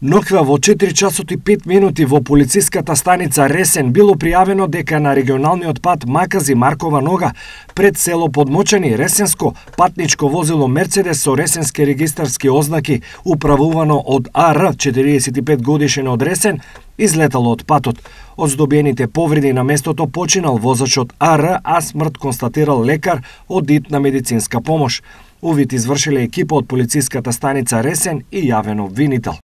Ноква во 4 часот и 5 минути во полициската станица Ресен било пријавено дека на регионалниот пат Макази-Маркова нога пред село Подмочани Ресенско патничко возило Мерцедес со ресенски регистарски ознаки управувано од АР 45 годишен од Ресен излетало од патот. Од здобиените повреди на местото починал возачот АР, а смрт констатирал лекар од итна медицинска помош. Увид извршиле екипа од полициската станица Ресен и јавен обвинител.